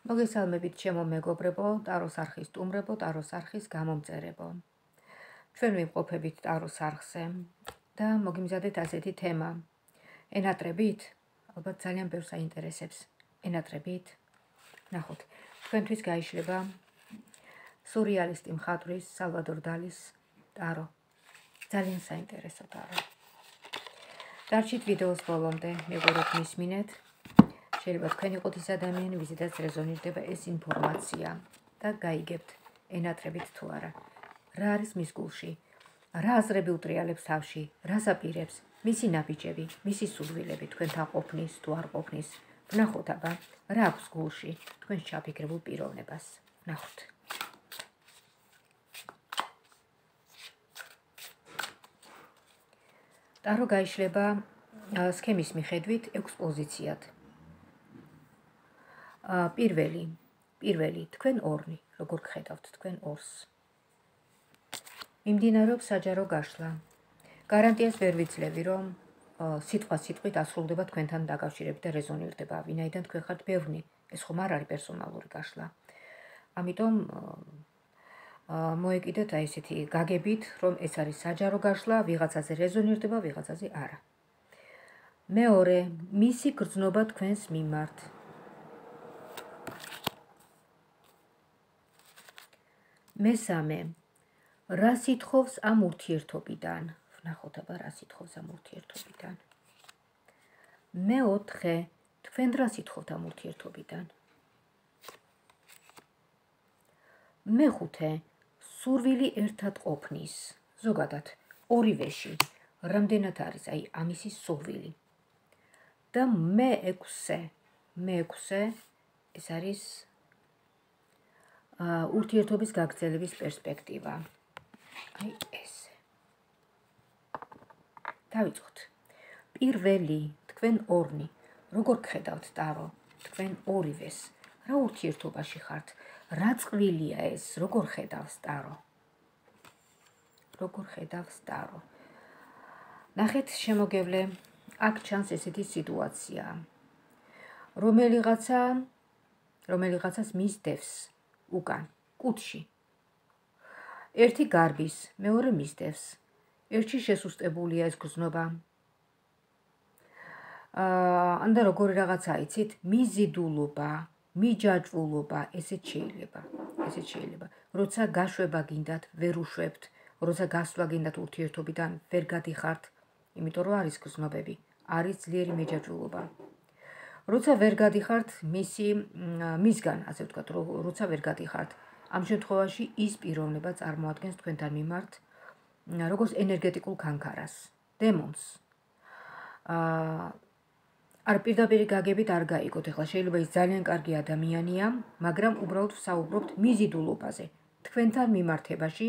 მოგესალმებით ჩემო მეგობრებო, ტაროს არხის სტუმრებო, ტაროს არხის გამომწერებო. ჩვენ ვიმყოფებით ტაროს არხზე და მოგიმზადეთ ასეთი თემა. ენატრებით? ალბათ ძალიან ბევრს აინტერესებს. ენატრებით? ნახოთ, თქვენთვის გაიშლება სურიალისტი მხატვრის სალვადორ დალის ტარო. ძალიან საინტერესო ტარო. დარჩით ვიდეოს ბოლომდე, მეგობრებო, მისმინეთ. შეიძლება თქვენ იყოთ ის ადამიანი, ვიზედაც რეზონირდება ეს ინფორმაცია და გაიგებთ ენატრებით თუ არა. რა არის მის გულში? რა აზრები უტრიალებს თავში? რას აპირებს? მისი ნაბიჯები, მისი სურვილები თქვენთან ყოფნის თუ არ ყოფნის. ვნახოთ აბა, რა აქვს გულში თქვენს ჩაფიქრებულ პიროვნებას. ვნახოთ. ტარო გაიშლება სქემის მიხედვით 6 პოზიციად. პირველი, თქვენ ორნი, როგორ გხედავთ თქვენ ორს. მიმდინარეობს საჯარო გაშლა. გარანტიას ვერ ვიძლევი, რომ სიტყვით ასრულდება თქვენთან დაკავშირებით და რეზონირდება, ვინაიდან თქვენ ხართ ბევრნი, ეს ხომ არ არის პერსონალური გაშლა. ამიტომ მოეკიდეთ აი ესეთი გაგებით, რომ ეს არის საჯარო გაშლა, ვიღაცაზე რეზონირდება, ვიღაცაზე არა. მეორე, მისი გრძნობა თქვენს მიმართ. მესამე, რა სითხოვს ამ ურთიერთობიდან? ვნახოთ აბა რა სითხოვს ამ ურთიერთობიდან. მეოთხე, თქვენ რა სითხოვთ ამ ურთიერთობიდან? მეხუთე, სურვილი ერთად ყოფნის. ზოგადად, ორივეში, რამდენად არის აი ამისი სურვილი. და მეექვსე, ეს არის ურთიერთობის გაგრძელების პერსპექტივა. აი ესე. დავიწყოთ. პირველი, თქვენ ორნი, როგორ გხედავთ ტარო? თქვენ ორივეს, რა ურთიერთობაში ხართ? რა წყვილია ეს? როგორ ხედავს ტარო? როგორ ხედავს ტარო? ნახეთ შემოგევლე, აქ ჩანს ესეთი სიტუაცია. რომელიღაცას მისდევს უკან, კუდში. ერთი გარბის, მეორე მისდევს. ერთში შესუსტებულია ეს გრძნობა. ანდა როგორი რაღაცა იცით, მიზიდულობა, მიჯაჭვულობა, ესეც შეიძლება. როცა გაშვება გინდათ, ვერ უშვებთ, როცა გასვლა გინდათ ურთიერთობიდან, ვერ გადიხართ, იმიტომ რომ არის გრძნობები, არის ძლიერი მიჯაჭვულობა. როცა ვერ გადიხართ მისგან, ასე ვთქვათ, როცა ვერ გადიხართ, ამ შემთხვევაში ის პიროვნება წარმოადგენს თქვენთან მიმართ როგორც ენერგეტიკულ ქანქარას, დემონს. არ პირდაპირი გაგებით არ გაიგოთ, ეხლა შეიძლება ის ძალიან კარგი ადამიანია, მაგრამ უბრალოდ ვსაუბრობთ მიზიდულობაზე. თქვენთან მიმართებაში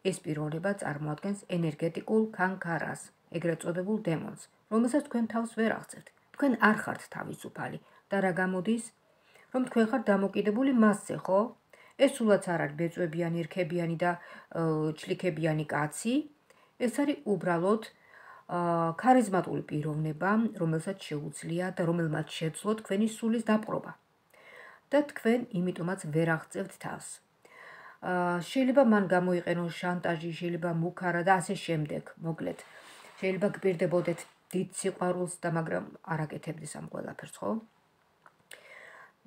ეს პიროვნება წარმოადგენს ენერგეტიკულ ქანქარას, ეგრეთ წოდებულ დემონს, რომელსაც თქვენ თავს ვერ აღწევთ. თქვენ არ ხართ თავისუფალი და რა გამოდის, რომ თქვენ ხართ დამოკიდებული მასზე, ხო? ეს სულაც არ არის ბეწვებიანი, რქებიანი და ჩლიქებიანი კაცი, ეს არის უბრალოდ ქარიზმატული პიროვნება, რომელსაც შეუძლია და რომელმაც შეძლო თქვენი სულის დაპყრობა. და თქვენ იმიტომაც ვერ აღწევთ თავს. შეიძლება მან გამოიყენოს შანტაჟი, შეიძლება მუქარა და ასე შემდეგ, მოკლედ. შეიძლება გპირდებოდეთ დიდ სიყვარულს და მაგრამ არ აკეთებდეს ამ ყველაფერს, ხო?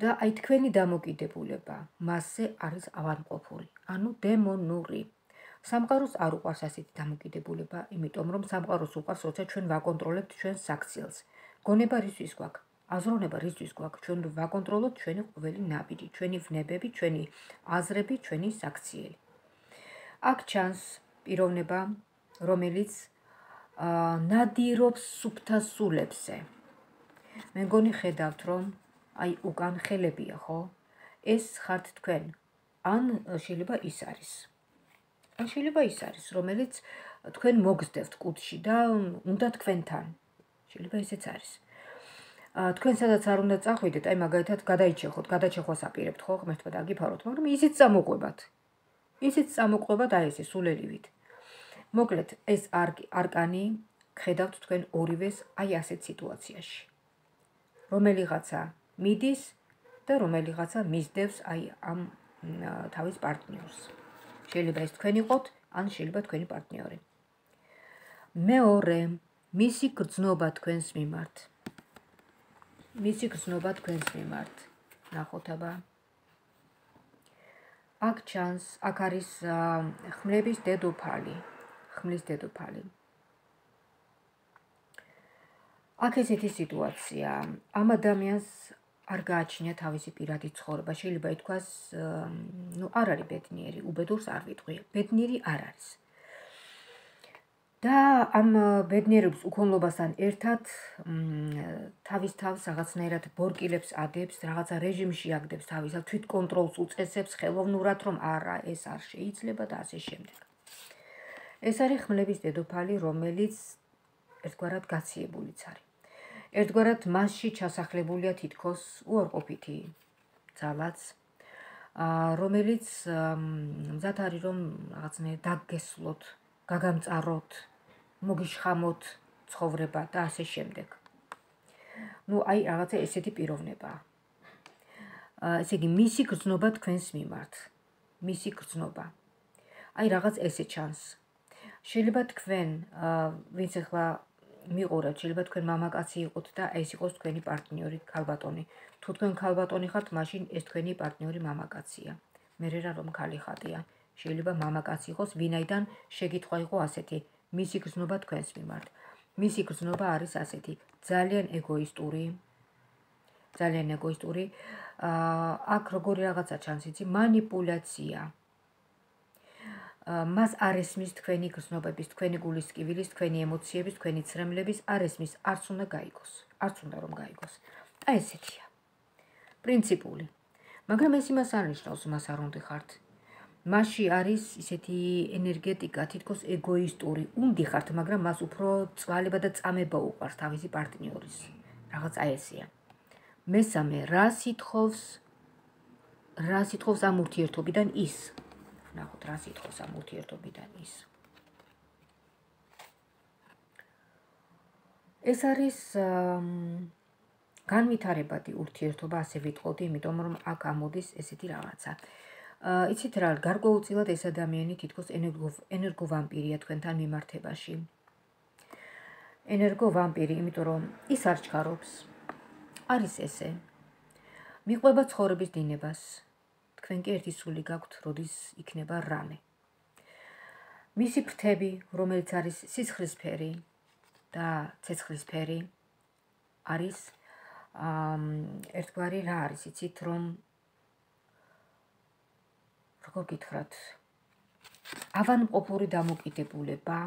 და აი თქვენი დამოკიდებულება მასზე არის ავადმყოფური, ანუ დემონური. სამყაროს არ უყვარს ასეთი დამოკიდებულება, იმიტომ რომ სამყაროს უყვარს, როცა ჩვენ ვაკონტროლებთ ჩვენს საქციელს. გონება რისთვის გვაქვს? აზროვნება რისთვის გვაქვს? ჩვენ ვაკონტროლოთ ჩვენი ყოველი ნაბიჯი, ჩვენი ვნებები, ჩვენი აზრები, ჩვენი საქციელი. აქ ჩანს პიროვნება, რომელიც ნადირობს სუფთა სულებზე. მე მგონი ხედავთ, რომ აი უკან ხელებია, ხო? ეს ხართ თქვენ. ან შეიძლება ის არის. რომელიც თქვენ მოგზდევთ კუდში და უნდა თქვენთან. შეიძლება ესეც არის. თქვენ სადაც არ უნდა წახვიდეთ, აი მაგალითად გადაჩეხვას აპირებთ, ხო? ღმერთმა დაგიფაროთ, მაგრამ ისიც წამოყვებათ აი ესე სულელივით. მოკლედ, ეს არკანი გხედავთ თქვენ ორივეს აი ასეთ სიტუაციაში. რომელიღაცა მიდის და რომელიღაცა მისდევს აი ამ თავის პარტნიორს. შეიძლება ეს თქვენ იყოთ, ან შეიძლება თქვენი პარტნიორი. მეორე, მისი გრძნობა თქვენს მიმართ. მისი გრძნობა თქვენს მიმართ. ნახოთ აბა. აქ ჩანს, აქ არის ხმლების დედოფალი. ხმლის დედოფალი. აქ ესეთი სიტუაცია. ამ ადამიანს არ გააჩნია თავისი პირადი ცხოვრება. შეიძლება ითქვას, არ არის ბედნიერი, უბედურს არ ვიტყვი. ბედნიერი არ არის. და ამ ბედნიერების უქონლობასთან ერთად თავის თავს რაღაცნაირად ბორკილებს ადებს, რაღაცა რეჟიმში აგდებს თავისად, თვითკონტროლს უწესებს ხელოვნურად, რომ არა, ეს არ შეიძლება და ასე შემდეგ. ეს არის ხმლების დედოფალი, რომელიც ერთგვარად გაციებულიც არის. ერთგვარად მასში ჩასახლებულია თითქოს უარყოფითი ძალაც, რომელიც მზად არის, რომ რაღაცნაირად დაგგესლოთ, გაგამწაროთ, მოგიშხამოთ ცხოვრება და ასე შემდეგ. აი რაღაცა ესეთი პიროვნებაა. ესე იგი, მისი გრძნობა თქვენს მიმართ. მისი გრძნობა. აი რაღაც ესე ჩანს. შეიძლება თქვენ, ვინც ახლა მიყურებთ, შეიძლება თქვენ მამაკაცი იყოთ და ეს იყოს თქვენი პარტნიორი, ქალბატონი. თუ თქვენ ქალბატონი ხართ, მაშინ ეს თქვენი პარტნიორი მამაკაცია. მერე რა რომ ქალი ხატია. შეიძლება მამაკაცი იყოს, ვინაიდან შეკითხვა იყო ასეთი. მისი გრძნობა თქვენს მიმართ. მისი გრძნობა არის ასეთი, ძალიან ეგოისტური. აქ როგორი რაღაცა ჩანს, იცი, манипуляция. მას არ ესმის თქვენი გრძნობების, თქვენი გულის ტკივილის, თქვენი ემოციების, თქვენი ცრემლების, არ ესმის, არც უნდა გაიგოს. არც უნდა რომ გაიგოს. აი ესეთია. პრინციპული. მაგრამ ეს იმას არ ნიშნავს, მას არ უნდა ხართ. მასში არის ისეთი ენერგეტიკა, თითქოს ეგოისტური. უნდა ხართ, მაგრამ მას უფრო წვალება და წამება უყვარს თავისი პარტნიორის. რაღაც აი ესეა. მესამე, რა სიტყავს ამ ურთიერთობიდან ის? ნახოთ, რა სიტყავს ამ ურთიერთობიდან ის. ეს არის განვითარებადი ურთიერთობა, ასე ვიტყოდი, იმიტომ რომ აქ ამოდის ესეთი რაღაცა. იცით რა, გარკვეულწილად ეს ადამიანი თითქოს ენერგოვამპირია თქვენთან მიმართებაში. ენერგოვამპირი, იმიტომ რომ ის არ ჩქარობს. არის ესე. მიყვება ცხოვრების დინებას. თქვენ კი ერთი სული გაქვთ, როდის იქნება რამე. მისი ფრთები, რომელიც არის სისხლისფერი და ცეცხლისფერი, არის ერთგვარი რა არის, იცით, რომ როგორ გითხრათ, ავანმყოფური დამოკიდებულება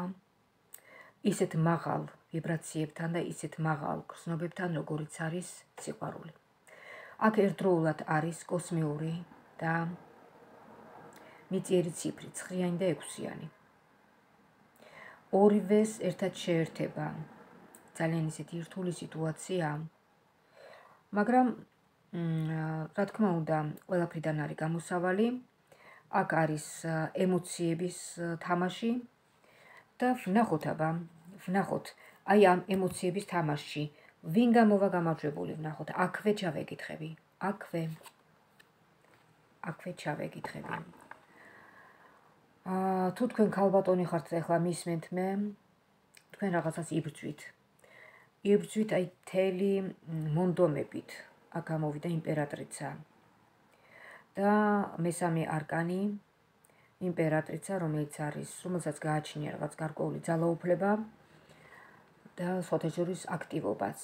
ისეთ მაღალ ვიბრაციებთან და ისეთ მაღალ გრძნობებთან, როგორიც არის სიყვარული. აქ ერთდროულად არის კოსმიური და მიწიერი ციფრი, 9 და 6. ორივეს ერთად შეერთება. ძალიან ისეთი რთული სიტუაცია. მაგრამ რა თქმა უნდა, ყველაფრიდან არის გამოსავალი. აქ არის ემოციების თამაში და ვნახოთ აბა, ვნახოთ, აი ამ ემოციების თამაშში ვინ გამოვა გამარჯვებული, ვნახოთ, აქვე ჩავეკითხები, აქვე ჩავეკითხები. თუ თქვენ ქალბატონი ხართ, ახლა მისმენთ მე, თქვენ რაღაცას იბრძვით. იბრძვით აი მთელი მონდომებით. აქ გამოვიდა იმპერატრიცა. და მესამე არკანი, იმპერატრიცა, რომელსაც გააჩნია რაღაც გარკვეული ძალაუფლება და სხვათა შორის აქტივობაც.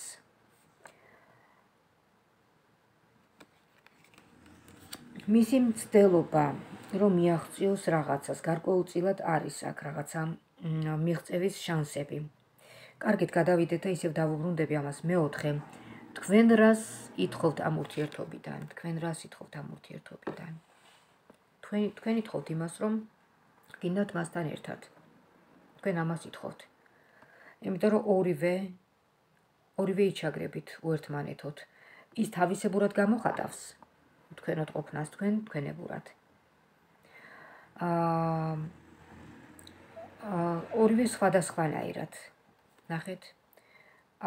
მისი მცდელობა, რომ მიაღწიოს რაღაცას, გარკვეულწილად არის აქ რაღაცა მიღწევის შანსები. კარგით, გადავიდეთ და ისევ დავუბრუნდები ამას. მეოთხე, თქვენ რას ითხოვთ ამ ურთიერთობიდან? თქვენ ითხოვთ იმას, რომ გინდათ მასთან ერთად. თქვენ ამას ითხოვთ. იმიტომ რომ ორივე იჩაგრებით უერთმანეთოთ. ის თავისებურად გამოხატავს თქვენოთ ყოფნას, თქვენებურად. ორივე სხვადასხვანაირად. ნახეთ,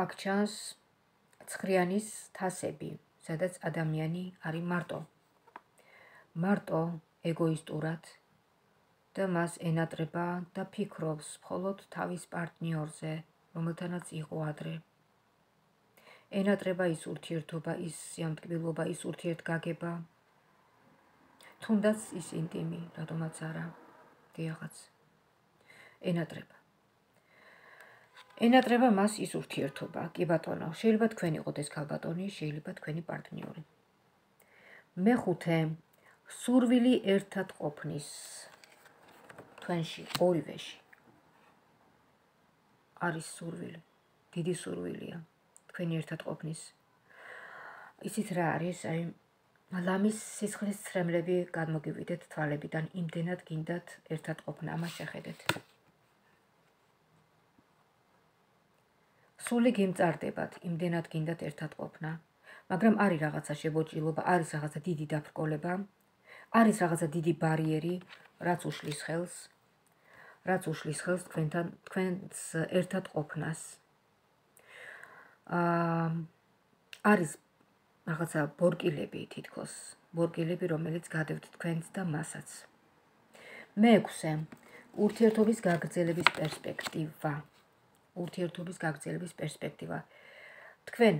აქ ჩანს ცხრიანის თასები, სადაც ადამიანი არის მარტო ეგოისტურად და მას ენატრება და ფიქრობს მხოლოდ თავის პარტნიორზე, რომელთანაც იყო ადრე. ენატრება ის ურთიერთობა, ის სიამტკბილობა, ის ურთიერთგაგება, თუნდაც ის ინტიმი, რატომაც არა, დიახაც. ენატრება მას ის ურთიერთობა, კი ბატონო, შეიძლება თქვენ იყოთ ეს ქალბატონი, შეიძლება თქვენი პარტნიორი. მეხუთე, სურვილი ერთად ყოფნის თქვენში, ორივეში. არის სურვილი, დიდი სურვილია თქვენი ერთად ყოფნის. იცით რა არის, ლამის სისხლის ცრემლები გადმოგივიდეთ თვალებიდან, იმდენად გინდათ ერთად ყოფნა, ამას შეხედეთ. სული გიმწარდებათ, იმდენად გინდათ ერთად ყოფნა, მაგრამ არის რაღაცა შებოჭილობა, არის რაღაცა დიდი დაფრკოლება, არის რაღაცა დიდი ბარიერი, რაც უშლის ხელს თქვენს ერთად ყოფნას. არის რაღაცა ბორკილები თითქოს, რომელიც გადევთ თქვენს და მასაც. მეექვსე, ურთიერთობის გაგრძელების პერსპექტივა. თქვენ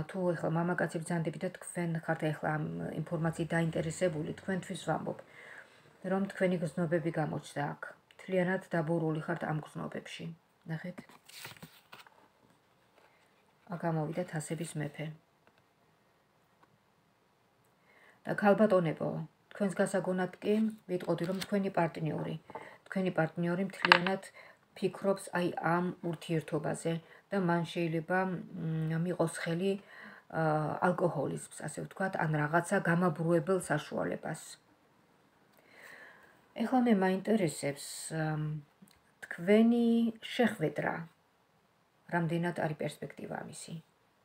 თუ ეხლა მამაკაცი ბრძანდებით და თქვენ ხართ ეხლა ამ ინფორმაციით დაინტერესებული, თქვენთვის ვამბობ, რომ თქვენი გრძნობები გამოჩნდა აქ. მთლიანად დაბურული ხართ ამ გრძნობებში. ნახეთ. გამოვიდა თასების მეფე. და ქალბატონებო, თქვენს გასაგონად კი ვიტყოდი, რომ თქვენი პარტნიორი მთლიანად ფიქრობს აი ამ ურთიერთობაზე და მან შეიძლება მიყოს ხელი ალკოჰოლიზმს, ასე ვთქვათ, ან რაღაცა გამაბრუებელ საშუალებას. ეხლა მე მაინტერესებს თქვენი შეხვედრა, რამდენად არის პერსპექტივა ამისი.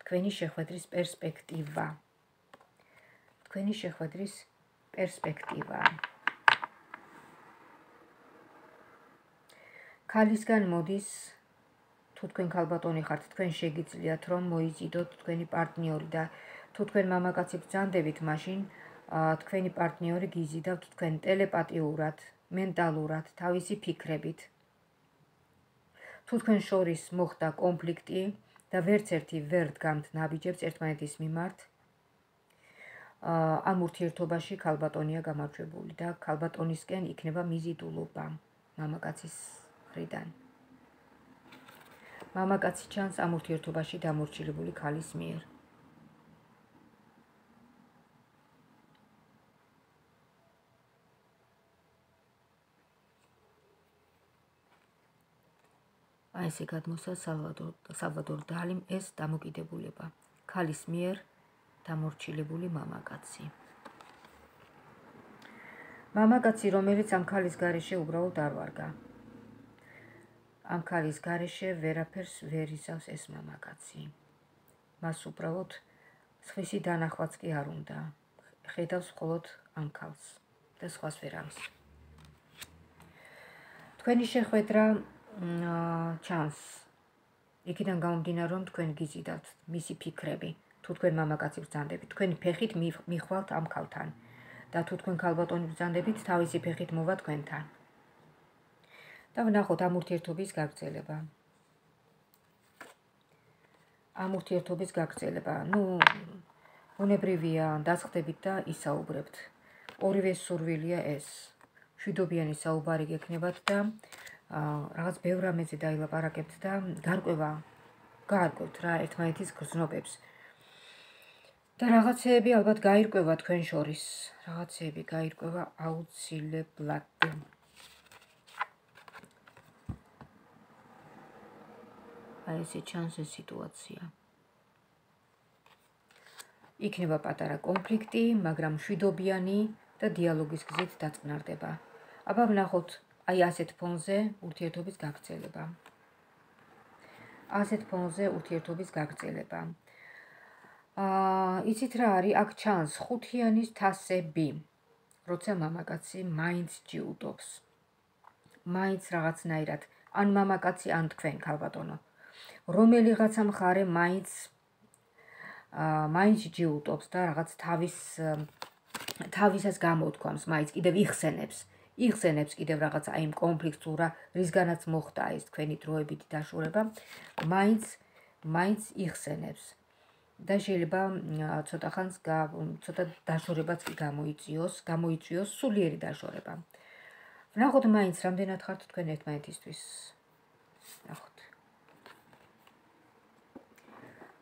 თქვენი შეხვედრის პერსპექტივა. ქალისგან მოდის, თუ თქვენ ქალბატონი ხართ, თქვენ შეგიძლიათ რომ მოიზიდოთ თქვენი პარტნიორი და თუ თქვენ მამაკაცი ბრძანდებით, მაშინ თქვენი პარტნიორი გიზიდავთ თქვენ ტელეპათიურად, მენტალურად, თავისი ფიქრებით. თუ თქვენ შორის მოხდა კონფლიქტი და ვერც ერთი ვერ დგამთ ნაბიჯებს ერთმანეთის მიმართ, ამ ურთიერთობაში ქალბატონია გამარჯვებული და ქალბატონისკენ იქნება მიზიდულობა მამაკაცის მხრიდან. მამაკაცი ჩანს ამ ურთიერთობაში დამორჩილებული ქალის მიერ. აი ესე გადმოსა სალვადორ დალიმ ეს დამოკიდებულება. ქალის მიერ დამორჩილებული მამაკაცი. მამაკაცი, რომელიც ამ ქალის გარეშე უბრალოდ არ ვარგა. ამ ქალის გარეშე ვერაფერს ვერ იზავს ეს მამაკაცი. მას უბრალოდ სხვისი დანახვაც კი არ უნდა. ხედავს მხოლოდ ამ ქალს და სხვას ვერავის. თქვენი შეხვედრა ჩანს. იქიდან გამომდინარე, რომ თქვენ გიზიდავთ მისი ფიქრები, თუ თქვენ მამაკაცი ბრძანდებით, თქვენი ფეხით მიხვალთ ამ ქალთან და თუ თქვენ ქალბატონი ბრძანდებით, თავისი ფეხით მოვა თქვენთან. და ვნახოთ ამ ურთიერთობის გაგრძელება. უნებრივია, დასხდებით და ისაუბრებთ. ორივე სურვილია ეს. მშვიდობიანი საუბარი გექნებათ და რაღაც ბევრ რამეზე დაილაპარაკებთ და გაარკვევთ რა ერთმანეთის გრძნობებს. და რაღაცეები ალბათ გაირკვევა თქვენ შორის. რაღაცეები გაირკვევა აუცილებლად. აი ესე ჩანს ეს სიტუაცია. იქნება პატარა კონფლიქტი, მაგრამ მშვიდობიანი და დიალოგის გზით დაწყნარდება. აბა ვნახოთ აი ასეთ ფონზე ურთიერთობის გაგრძელება. იცით რა არის, აქ ჩანს ხუთიანის თასები, როცა მამაკაცი მაინც ჯიუტობს. მაინც რაღაცნაირად, ან მამაკაცი, ან თქვენ ქალბატონო. რომელიღაცა მხარე მაინც მაინც ჯიუტობს და რაღაც თავისას გამოთქვამს, მაინც კიდევ იხსენებს კიდევ რაღაც აი იმ კონფლიქტს თუ რისგანაც მოხდა ეს თქვენი დროებითი დაშორება, მაინც იხსენებს. და შეიძლება ცოტა ხანს ცოტა დაშორებაც კი გამოიწვიოს სულიერი დაშორება. ვნახოთ მაინც რამდენად ხართ თქვენ ერთმანეთისთვის.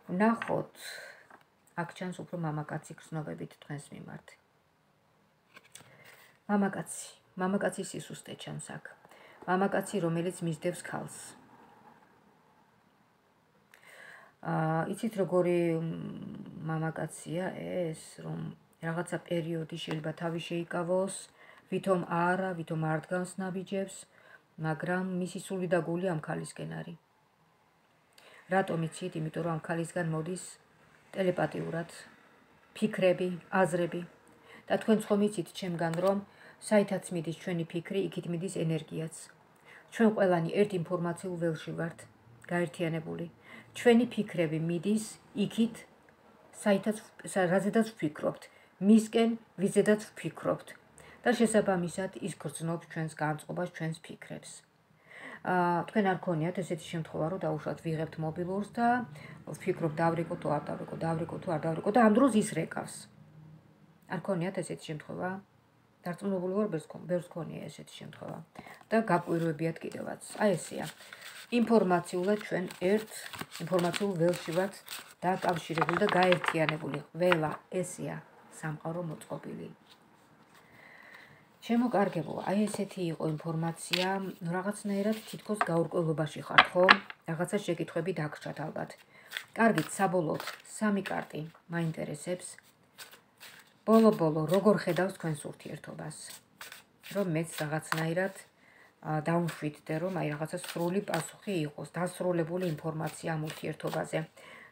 ვნახოთ აქ ჩანს უფრო მამაკაცი გრძნობებით თქვენს მიმართ. მამაკაცი სისუსტე ჩანს აქ. მამაკაცი, რომელიც მისდევს ქალს. იცით როგორი მამაკაცია ეს, რომ რაღაცა პერიოდი შეიძლება თავი შეიკავოს, ვითომ არ დგანს ნაბიჯებს, მაგრამ მისი სული და გული ამ ქალისკენ არის. რატომ იცით? იმიტომ რომ ამ ქალისგან მოდის ტელეპათიურად ფიქრები, აზრები და თქვენ ხომ იცით ჩემგან რომ საითაც მიდის ჩვენი ფიქრი, იქით მიდის ენერგიაც. ჩვენ ყველანი ერთ ინფორმაციულ ველში ვართ გაერთიანებული. ჩვენი ფიქრები მიდის იქით, რაზედაც ვფიქრობთ, მისკენ, ვიზედაც ვფიქრობთ და შესაბამისად ის გრძნობს ჩვენს განწყობას, ჩვენს ფიქრებს. თქვენ არ გქონიათ ესეთი შემთხვევა, რომ დაუშვათ ვიღებთ მობილურს და ვფიქრობ დავრეკო თუ არ დავრეკო, დავრეკო თუ არ დავრეკო და ამ დროს ის რეკავს. არ გქონიათ ესეთი შემთხვევა? დარწმუნებული ვარ, ბევრს გქონია ესეთი შემთხვევა და გაკვირვებიათ კიდევაც. აი ესეა. ინფორმაციულად ჩვენ ერთ ინფორმაციულ ველში ვართ დაკავშირებული და გაერთიანებული. ყველა ესეა სამყარო მოწყობილი. შემოკარგებო, აი ესეთი იყო ინფორმაცია, რაღაცნაირად თითქოს გაურკვევლობაში ხართ, ხო? რაღაცა შეკითხვები დაგრჩათ ალბათ. კარგით, საბოლოოდ 3 კარტი მაინტერესებს. ბოლო-ბოლო როგორ ხედავს თქვენს ურთიერთობას? რომ მეც რაღაცნაირად დავუშვიდდე, რომ აი რაღაცა სრული პასუხი იყოს, დასრულებული ინფორმაცია ამ ურთიერთობაზე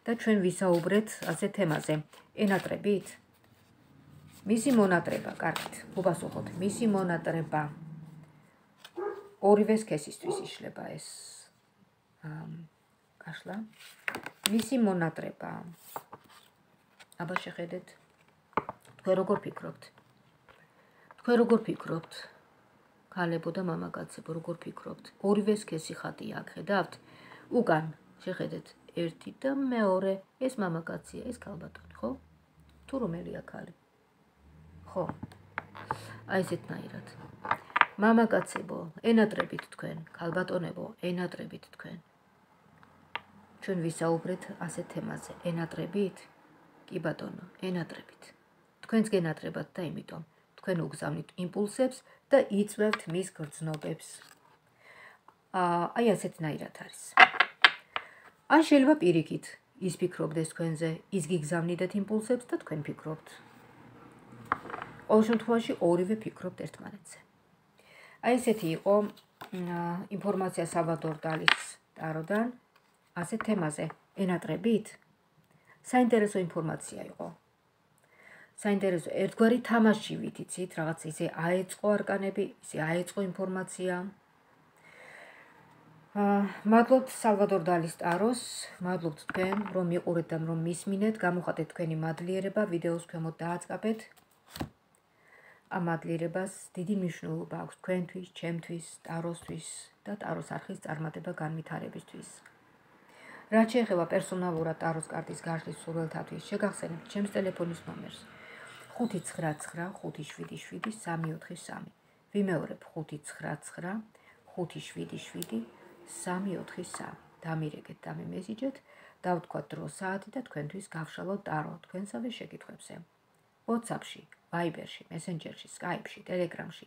და ჩვენ ვისაუბრეთ ასე თემაზე. ენატრებით? მისი მონატრება, კარგით, უპასუხოთ. მისი მონატრება. ორივე სქესისთვის იშლება ეს კაშლა. მისი მონატრება. აბა შეხედეთ. თქვენ როგორ ფიქრობთ? ქალებო და მამაკაცებო, როგორ ფიქრობთ? ორივე სქესი ხატია აქ, ხედავთ? უკან, შეხედეთ. ერთი და მეორე, ეს მამაკაცია, ეს ქალბატონი, ხო? თუ რომელია ქალი? ხო. აი ესეთნაირად. მამაკაცებო, ენატრებით თქვენ, ქალბატონებო, ენატრებით თქვენ. ჩვენ ვისაუბრეთ ასე თემაზე, ენატრებით? კი ბატონო, ენატრებით. თქვენც გენატრებათ და იმიტომ თქვენ უგზავნით იმპულსებს და იწვევთ მის გრძნობებს. აი ასეთნაირად არის. ან შეიძლება პირიქით ის ფიქრობდეს თქვენზე, ის გიგზავნიდეთ იმპულსებს და თქვენ ფიქრობთ. ყოველ შემთხვევაში ორივე ფიქრობთ ერთმანეთზე. აი ესეთი იყო ინფორმაცია სალვადორ დალის ტაროდან ასე თემაზე, ენატრებით? საინტერესო ინფორმაცია იყო. საინტერესო ერთგვარი თამაში ვითიცით, რაღაც ისე აეწყო არკანები, ისე აეწყო ინფორმაცია. მადლობთ სალვადორ დალის ტაროს, მადლობთ თქვენ, რომ მიყურეთ და რომ მისმინეთ, გამოხატეთ თქვენი მადლიერება, ვიდეოს ქვემოთ დააწყაბეთ. ამ მადლიერებას დიდი მნიშვნელობა აქვს თქვენთვის, ჩემთვის, ტაროსთვის და ტაროს არხის წარმატება განვითარებისთვის. რაც შეეხება პერსონალურად ტაროს კარტის გაშლის სურვილთათვის, შეგახსენებთ ჩემს ტელეფონის ნომერს 599577343. ვიმეორებ 599577343. დამირეკეთ, დამემესიჯეთ, დავთქვათ დრო, საათი და თქვენთვის გავშალოთ ტარო თქვენსავე შეკითხვებზე. WhatsApp-ში, Viber-ში, Messenger-ში, Skype-ში, Telegram-ში,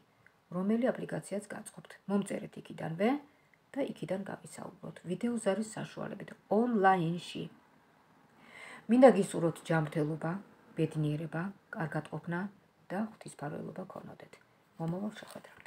რომელი აპლიკაციაც გაწყობთ. მომწერეთ იქიდანვე და იქიდან გავისაუბროთ. ვიდეოს არის საშუალებით ონლაინში. მინდა გისურვოთ ჯანმრთელობა, ბედნიერება, კარგად ყოფნა და ღვთისმფარველობა გქონოდეთ. მომავალ შეხვედრამდე.